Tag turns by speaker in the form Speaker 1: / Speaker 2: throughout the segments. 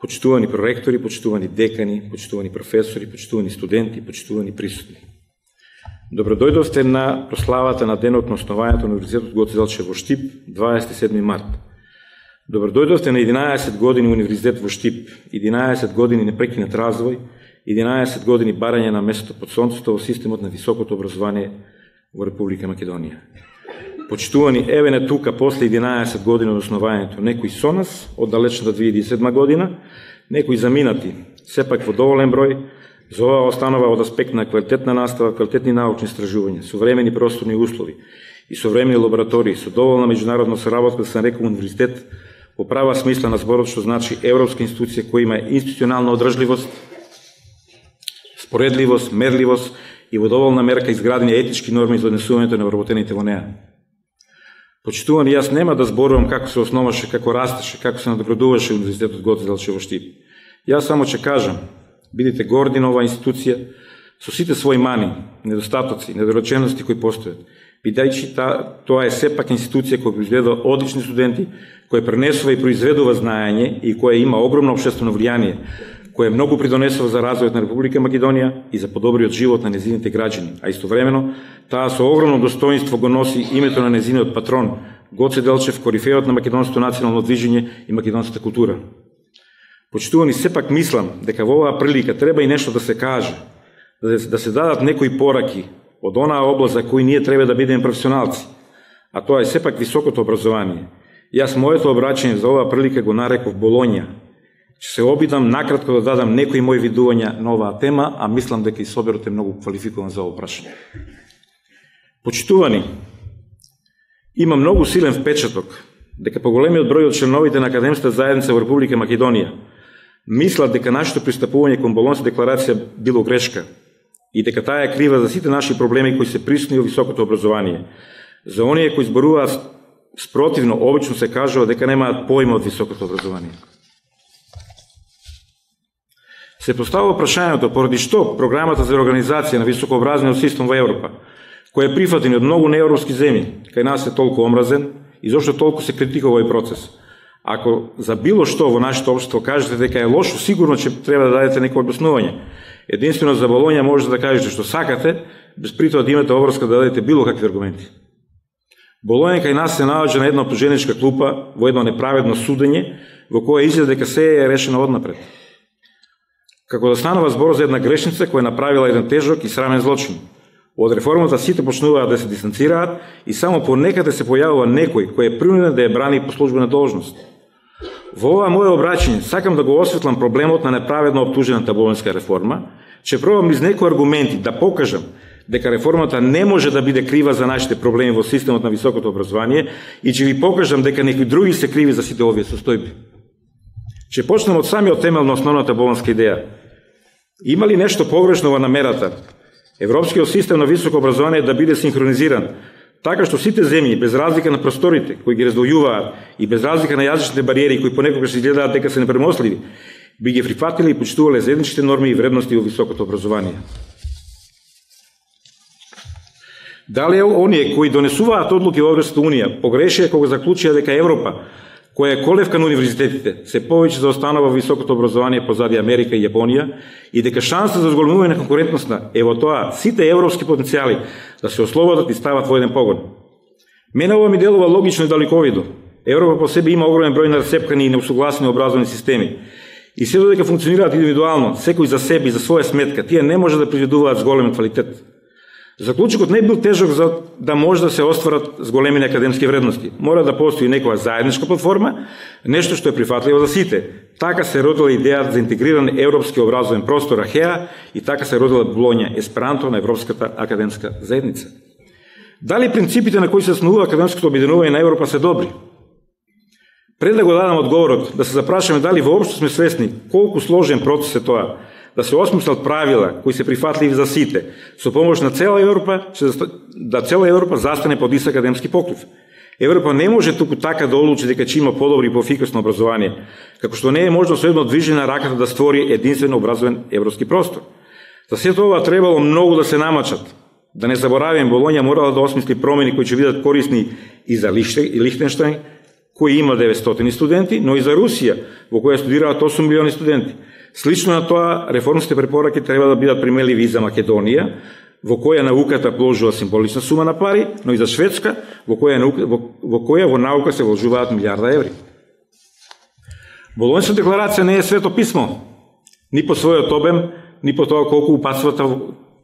Speaker 1: почитувани проректори, почитувани декани, почитувани професори, почитувани студенти, почитувани присутни. Добродојдовте на прославата на денот на основањето на Универзитетот Гоце Делчев во Штип, 27 март. Добродојдовте на 11 години Универзитет во Штип, 11 години непрекинат развој, 11 години барање на местото под сонцето во системот на високото образование во Република Македонија. Почитувани, еве не тука, после 11 години од основањето, некои со нас, од далечната 2007 година, некои заминати, сепак во доволен број, за ова останува од аспект на квалитетна настава, квалитетни научни истражувања, современи просторни услови и современи лаборатории, со доволна меѓународна соработка, да се нарекува универзитет, во права смисла на зборот, што значи европска институција која има институционална одржливост, споредливост, мерливост и во доволна мерка изградени етички норми за однесувањето на вработените во неа. Почитувани, јас нема да зборувам како се основаше, како растеше, како се надоградуваше Универзитетот Гоце Делчев во Штип. Јас само ќе кажам, бидете горди на оваа институција со сите своји мани, недостатоци, недоречености кои постојат, бидејќи тоа е сепак институција која произведува одлични студенти, која пренесува и произведува знаење и која има огромно општествено влијание, која многу придонесува за развојот на Република Македонија и за подобриот живот на незините граѓани, а истовремено таа со огромно достоинство го носи името на незиниот патрон Гоце Делчев, корифеот на македонското национално движење и македонската култура. Почитувани, сепак мислам дека во оваа прилика треба и нешто да се каже, да се дадат некои пораки од онаа област за кој ние треба да бидеме професионалци, а тоа е сепак високото образование. Јас моето обраќање за оваа прилика го нареков Болоња. Ќе се обидам накратко да дадам некои мои видувања на оваа тема, а мислам дека и соберот е многу квалификуван за ова прашање. Почитувани, има многу силен впечаток дека поголемиот број од членовите на академската заедница во Република Македонија мислат дека нашето пристапување кон Болонската декларација било грешка и дека таа е крива за сите наши проблеми кои се присутни во високото образование. За оние кои зборуваат спротивно, обично се кажува дека немаат поима од високото образование. Се поставува прашањето поради што програмата за организација на високообразовниот систем во Европа, кој е прифатен од многу неевропски земји, кај нас е толку омразен и зошто толку се критикува овој процес. Ако за било што во нашето општество кажете дека е лошо, сигурно ќе треба да дадете некој објаснување. Единствено за Болоња можете да кажете што сакате, без при тоа да имате обврска да дадете било какви аргументи. Болоња кај нас се наоѓа на една оптуженичка клупа во едно неправедно судење во кое изгледа дека се е решено однапред. Како да станува збор за една грешница која направила еден тежок и срамен злочин. Од реформата сите почнуваат да се дистанцираат и само понекаде се појавува некој кој е принуден да ја брани по службена должност. Во ова моје обраќање сакам да го осветлам проблемот на неправедно оптужената болонска реформа, ќе пробам из некои аргументи да покажам дека реформата не може да биде крива за нашите проблеми во системот на високото образование и ќе ви покажам дека некои други се криви за сите овие состојби. Ќе почнем од самиот темел на основната болонска идеја. Има ли нешто погрешно во намерата европскиот систем на високо образование да биде синхронизиран, така што сите земји, без разлика на просторите кои ги раздвојуваат и без разлика на јазичните бариери кои понекогаш изгледаат дека се непремостливи, би ги прифатили и почитувале заедничките норми и вредности во високото образование? Дали оние кои донесуваат одлуки во Европската унија погрешија кога заклучија дека Европа, која е колевка на универзитетите, се повеќе заостанува во високото образование позади Америка и Јапонија и дека шанса за зголемување на конкурентноста е во тоа сите европски потенцијали да се ослободат и стават во еден погон. Мене ова ми делува логично и далековидно. Европа по себе има огромен број на расцепкани и неусогласени образовни системи. И се додека функционираат индивидуално, секој за себе и за своја сметка, тие не може да произведуваат с голем квалитет. Заклучокот не бил тежок за да може да се остварат зголемени академски вредности. Мора да постои некоја заедничка платформа, нешто што е прифатливо за сите. Така се родила идејата за интегриран европски образовен простор АХЕА и така се родила Болоња, есперанто на Европската академска заедница. Дали принципите на кои се основува академското обединување на Европа се добри? Пред да го дадам одговорот, да се запрашаме дали воопшто сме свесни колку сложен процес е тоа, да се осмислат правила кои се прифатливи за сите, со помош на цела Европа, да цела Европа застане под ист академски покрив. Европа не може туку така да одлучи дека ќе има подобри и поефикасно образование, како што не е можно со едно движење на раката да створи единствено образовен европски простор. За сето ова требало многу да се намачат. Да не заборавим, Болоња морала да осмисли промени кои ќе бидат корисни и за Лихтенштајн, кој има 900 студенти, но и за Русија, во која студираат 8 милиони студенти. Слично на тоа, реформските препораки треба да бидат примеливи и за Македонија, во која науката вложува символична сума на пари, но и за Шведска, во која во наука се вложуваат милиарда еври. Болонската декларација не е свето писмо, ни по својот обем, ни по тоа колку упатствата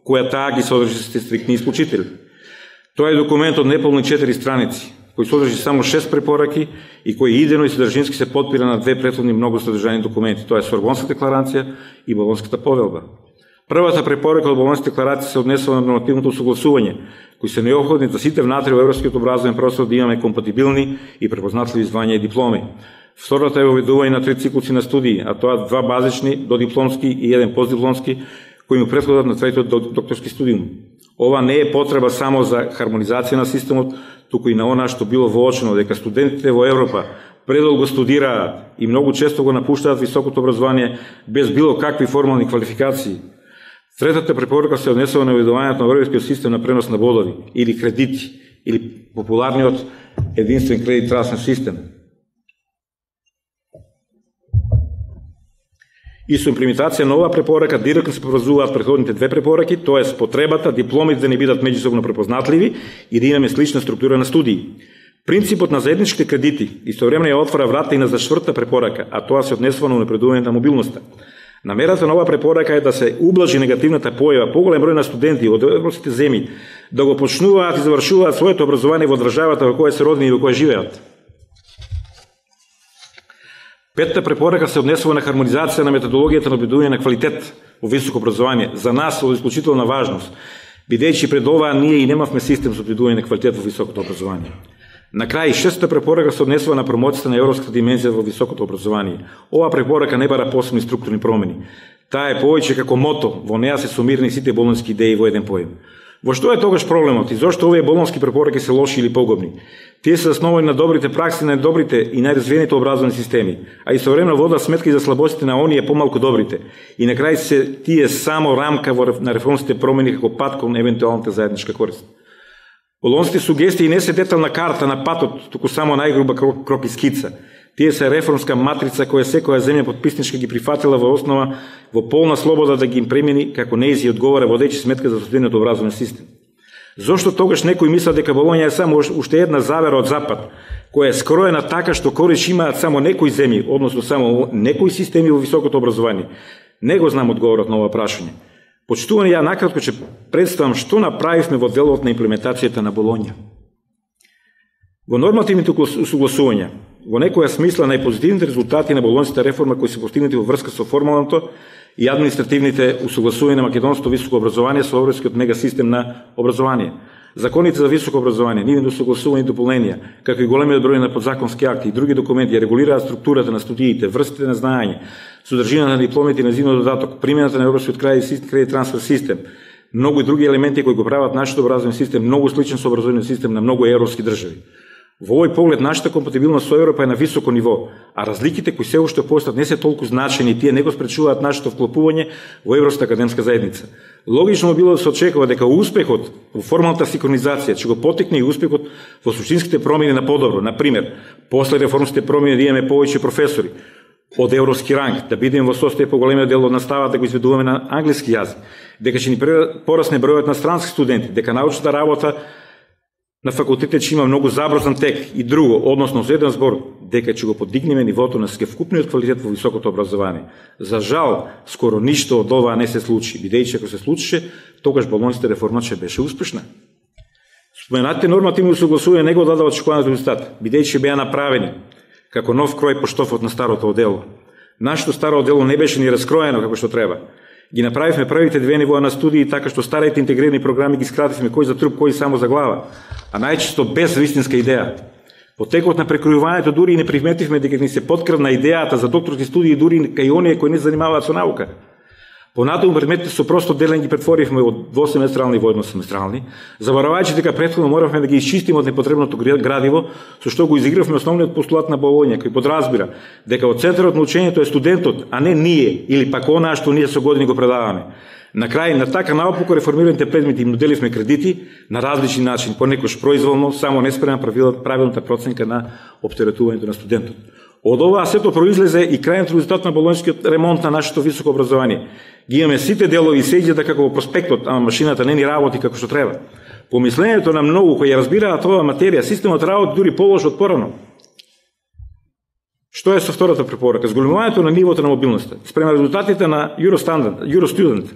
Speaker 1: која таа ги содржи стриктни исполнители. Тоа е документ од неполни 4 страници, кој содржи само 6 препораки и кој идено и содржински се подпира на две претходни многу содржани документи, тоа е Сорбонската декларација и Болонската повелба. Првата препорака од Болонската декларација се однесува на нормативното согласување, кои се необходни за сите внатре во европскиот образовен простор да имаме компатибилни и препознатливи звања и дипломи. Втората е воведување на 3 циклуси на студии, а тоа 2 базични, додипломски и 1 постдипломски, кои му претходат на третиот докторски студиум. Ова не е потреба само за хармонизација на системот, туку и на она што било воочено дека студентите во Европа предолго студираат и многу често го напуштаат високото образование без било какви формални квалификации. Третата препорака се однесува на воведувањето на европскиот систем на пренос на бодови или кредити, или популарниот единствен кредит трансфер систем. И со имплементација на оваа препорака директно се поврзуваат претходните две препораки, тоа е потребата дипломите да не бидат меѓусобно препознатливи и да имаме слична структура на студии. Принципот на заедничките кредити истовремено ја отвора врата и на четвртата препорака, а тоа се однесува на унапредување на мобилноста. Намерата на оваа препорака е да се ублажи негативната појава поголем број на студенти од европските земји да го почнуваат и завршуваат своето образование во државата во која се родени и во која живеат. Петата препорака се однесува на хармонизација на методологијата на обидување на квалитет во високо образование. За нас од исклучителна важност, бидејќи пред ова ние и немавме систем за обидување на квалитет во високото образование. На крај, шестата препорака се однесува на промоцијата на европската димензија во високото образование. Оваа препорака не бара посебни структурни промени. Таа е повеќе како мото, во неа се сумирани сите болонски идеи во еден поем. Во што е тогаш проблемот и зошто овие болонски препораки се лоши или погубни? Тие се основани на добрите пракси на добрите и најразвиените образовни системи, а истовремено водат сметка и за слабостите на оние помалку добрите. И на крај се тие само рамка на реформските промени како пат кон евентуалната заедничка корист. Болонските сугестии не се детална карта на патот, туку само најгруба крок и скица. Тие се реформска матрица која секоја земја подписничка ги прифатила во основа во полна слобода да ги им премени како нејзи одговара водејќи сметка за состојанието образовен систем. Зошто тогаш некои мислат дека Болонја е само уште една завера од запад, која е скроена така што кориш имаат само некои земји, односно само некои системи во високото образование? Не го знам одговорот на ова прашање. Почитувани, ја накратко ќе представам што направивме во делот на имплементацијата на Болонја. Во нормативните усогласувања, во некоја смисла најпозитивните резултати на болонската реформа кои се постигнати во врска со формалното и административните усогласувања на македонското високо образование со европскиот мегасистем на образование. Законите за високо образование, нивните усогласувања и дополненија, како и големиот број на подзаконски акти и други документи регулираат структурата на студиите, врстите на знаење, содржината на дипломите и на незиниот додаток, примената на европскиот кредит трансфер систем, многу и други елементи кои го прават нашиот образовен систем многу сличен со образовниот систем на многу европски држави. Во овој поглед, нашата компатибилност со Европа е на високо ниво, а разликите кои се уште постојат не се толку значени и тие не го спречуваат нашето вклопување во Европската академска заедница. Логично било да се очекува дека успехот во формалната синхронизација ќе го потекне и успехот во суштинските промени на подобро. Например, после реформските промени да имаме повеќе професори од европски ранг, да бидеме во состојба поголемиот дел од наставата да го изведуваме на англиски јазик, дека ќе ни порасне бројот на странски студенти, дека научната работа на факултетите ќе има многу забрзан тек и друго, односно за еден збор, дека ќе го подигнеме нивото на севкупниот квалитет во високото образование. За жал, скоро ништо од ова не се случи, бидејќи ако се случише, тогаш болонската реформа ќе беше успешна. Споменатите нормативни усогласувања не го дадоа очекуваниот резултат, бидејќи беа направени како нов крој по штофот на старото одело. Нашето старо одело не беше ни раскроено како што треба. Ги направивме првите две нивоа на студии така што старите интегрирани програми ги скративме кој за труп, кој само за глава, а најчесто без вистинска идеја. По текот на прекројувањето дури и не приметивме дека ни се подкрвна идејата за докторски студии дури кај оние кои не занимаваат со наука. Понатаму предметите со просто делење ги претворивме од двосеместрални во едносеместрални, заборавајќи дека претходно моравме да ги исчистиме од непотребното градиво, со што го изигравме основниот постулат на Болоња, кој подразбира дека од центарот на учењето е студентот, а не ние или пак онаа што ние со години го предаваме. На крај на така наопако реформираните предмети им доделивме кредити на различни начини, понекогаш произволно, само неспрема правилната проценка на оптеретувањето на студентот. Од ова сето произлезе и крајниот резултат на болонскиот ремонт на нашето високо образование. Ги имаме сите делови се изгледа како во проспектот, ама машината не ни работи како што треба. Помислењето на многу кои ја разбираат оваа материја, системот работи дури полош од порано. Што е со втората препорака? Зголемувањето на нивото на мобилноста. Спрема резултатите на Eurostudent,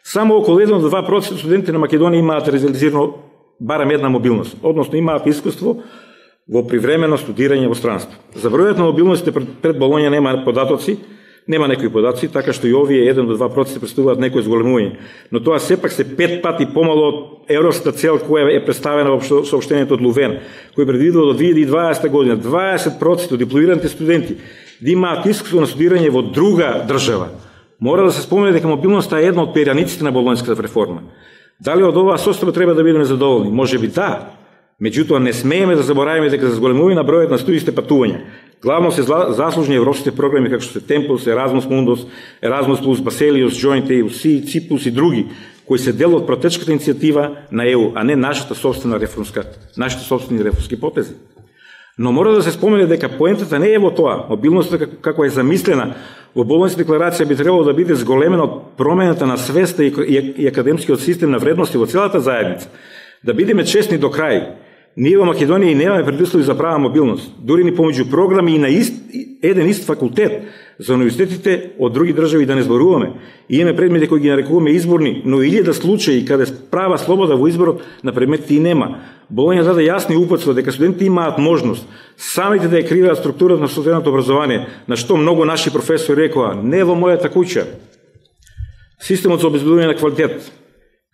Speaker 1: само околу 1 до 2% студенти на Македонија имаат реализирано барем една мобилност, односно имаат искуство во привремено студирање во странство. За бројот на мобилностите пред Болоња нема некои податци, така што и овие 1 до 2% представуваат некој зголемување, но тоа сепак се 5 пати помало од европската цел која е представена во соопштението од Лувен, кој предвидува до 2020 година 20% од дипломираните студенти да имаат искуство на студирање во друга држава. Мора да се спомене дека мобилноста е една од перјаниците на болонската реформа. Дали од оваа состојба треба да бидеме задоволни? Можеби да. Меѓутоа не смееме да забораваме дека за зголемување на бројот на студентските патувања главно се заслужни европските програми како што се Tempus, Erasmus Mundus, Erasmus Plus, Baselius, Joint EU, CIPUS и други, кои се дел од протечката иницијатива на ЕУ, а не нашите собствени реформски потези. Но мора да се спомене дека поентата не е во тоа. Мобилноста како е замислена во Болонската декларација би требало да биде зголемена од промената на свеста и академскиот систем на вредности во целата заедница. Да бидеме честни до крај, ние во Македонија и немаме предуслови за права мобилност. Дури ни помеѓу програми и на еден ист факултет за универзитетите од други држави да не зборуваме. И имаме предмети кои ги нарекуваме изборни, но илјада случаи каде права слобода во изборот на предметите и нема. Болоња даде јасни упатства дека студентите имаат можност самите да ја креираат структурата на студентското образование, на што многу наши професори рекоа: не во мојата куќа. Системот за обезбедување на квалитет,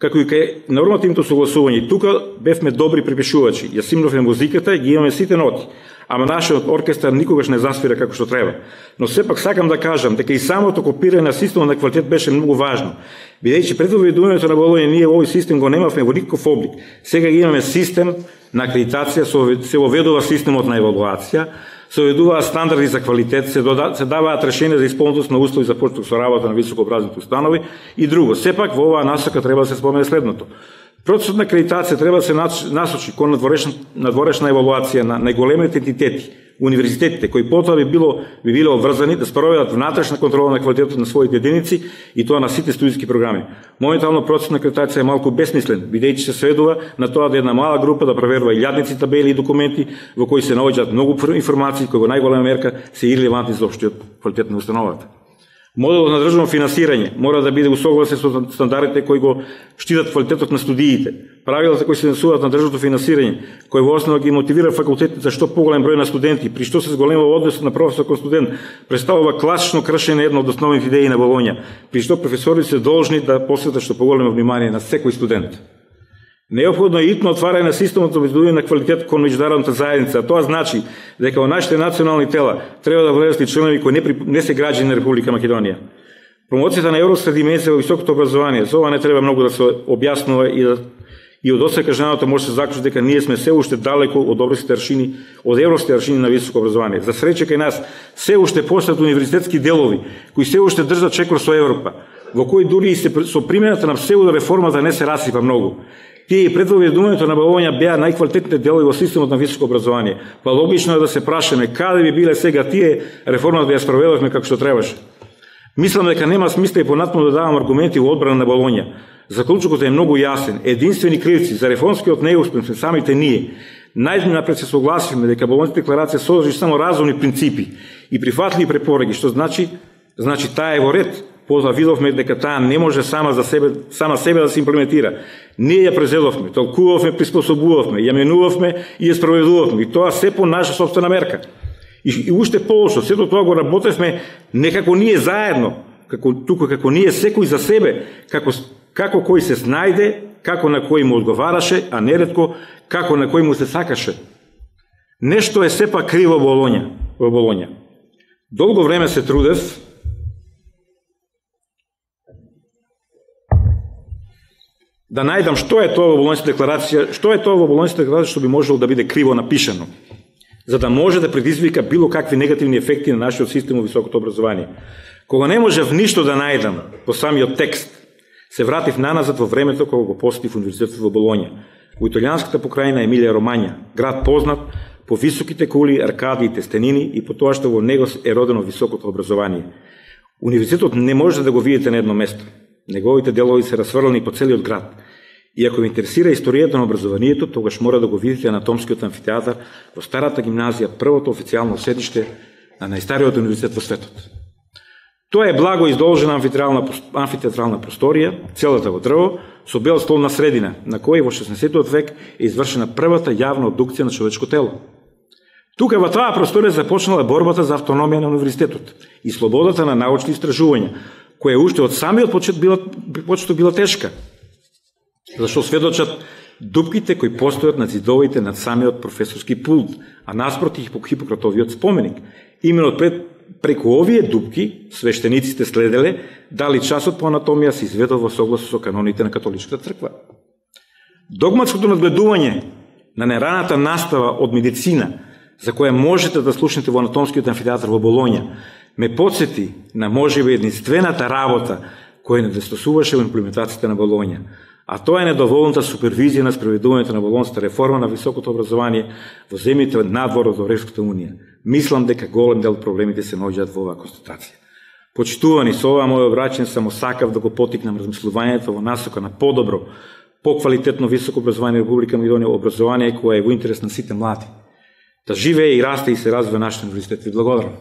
Speaker 1: како и кај нормативното согласување, тука бевме добри препишувачи, ја симнавме музиката и ги имаме сите ноти, ама нашиот оркестар никогаш не засвира како што треба. Но сепак сакам да кажам дека и самото копирање на системот на квалитет беше многу важно, бидејќи пред воведувањето на Болоња ние овој систем го немавме во никаков облик. Сега ги имаме систем на акредитација, се воведува системот на евалуација, се воведуваат стандарди за квалитет, се даваат решенија за исполнетост на услови за почеток со работа на високообразовни установи и друго. Сепак во оваа насока треба да се спомене следното. Процесот на акредитација треба да се насочи кон надворешна евалуација на најголемите entитети, универзитетите, кои потоа би биле обврзани да спроведат внатрешна контрола на квалитетот на своите единици и тоа на сите студиски програми. Моментално процесот на акредитација е малку бесмислен, бидејќи се сведува на тоа да една мала група да проверува илјадници табели и документи во кои се наоѓаат многу информации кои во најголема мерка се ирелевантни за општиот квалитет на установата. Моделот на државно финансирање мора да биде усогласен со стандардите кои го штитат квалитетот на студиите. Правилата кои се однесуваат на државното финансирање, кои во основа ги мотивира факултетите за што поголем број на студенти, при што се зголемува односот на професор кон студент, представува класично кршење една од основните идеи на Болоња, при што професорите се должни да посветат што поголемо внимание на секој студент. Неопходно е итно отварање на системот за обезбедување на квалитет кон меѓународната заедница. Тоа значи дека во нашите национални тела треба да влезат и членови кои не се граѓани на Република Македонија. Промоцијата на европска димензија во високото образование, за ова не треба многу да се објаснува и од досега кажаното може да се заклучи дека ние сме се уште далеку од европските аршини на високо образование. За среќа кај нас се уште постојат универзитетски делови кои се уште држат чекор со Европа, во кои дури и со примената на псевдореформата не се расипа многу. Тие и пред воведувањето на Болоња беа најквалитетните делови во системот на високо образование. Па логично е да се прашаме каде би биле сега тие реформата да ја спроведовме како што требаше. Мислам дека нема смисла и понатаму да давам аргументи во одбрана на Болоња. Заклучокот е многу јасен. Единствени кривци за реформскиот неуспех сме самите ние. Најнапред се согласивме дека Болонската декларација содржи само разумни принципи и прифатливи препораки, што значи таа е во ред. Потоа видовме дека таа не може сама себе да се имплементира. Ние ја презедовме, толкувавме, приспособувавме, ја менувавме и ја спроведувавме. И тоа се по наша собствена мерка. И уште полошо, сето тоа го работевме не како ние заедно, туку како ние секој за себе, како кој се снајде, како на кој му одговараше, а неретко како на кој му се сакаше. Нешто е сепак криво во Болоња. Долго време се трудев да најдам што е тоа во Болонската декларација, што би можело да биде криво напишано, за да може да предизвика било какви негативни ефекти на нашиот систем во високото образование. Кога не можев ништо да најдам по самиот текст, се вратив наназад во времето кога го посетив универзитетот во Болоња, во италијанската покрајна Емилија Ромања, град познат по високите кули, аркади и тестенини и по тоа што во него е родено високото образование. Универзитетот не може да го видите на едно место. Неговите делови се расфрлани по целиот град. И ако ви интересира историјата на образованието, тогаш мора да го видите анатомскиот амфитеатар во старата гимназија, првото официјално седиште на најстариот универзитет во светот. Тоа е благо издолжена амфитеатрална просторија, целата во дрво, со бел стол на средина, на кој во 16 век е извршена првата јавна обдукција на човечко тело. Тука во таа просторија започнала борбата за автономија на универзитетот и слободата на научни истражувања, која уште од самиот почеток била тешка, зашто сведочат дупките кои постојат на зидовите над самиот професорски пулт, а наспроти Хипократовиот споменик. Именно преку овие дупки свештениците следеле дали часот по анатомија се изведува во согласност со каноните на католичката црква. Догматското надгледување на нераната настава од медицина, за која можете да слушнете во анатомскиот амфитеатар во Болоња, ме подсети на можеби единствената работа која недостасуваше во имплементацијата на Болоња, а тоа е недоволната супервизија на спроведувањето на Болонската реформа на високото образование во земјите надвор од Европската унија. Мислам дека голем дел проблемите се наоѓаат во оваа констатација. Почитувани, со ова моје обраќање само сакав да го потикнам размислувањето во насока на подобро, поквалитетно високо образование во Република Македонија, образование кое е во интерес на сите млади. Да живее и расте и се развива нашиот универзитет. Ви благодарам.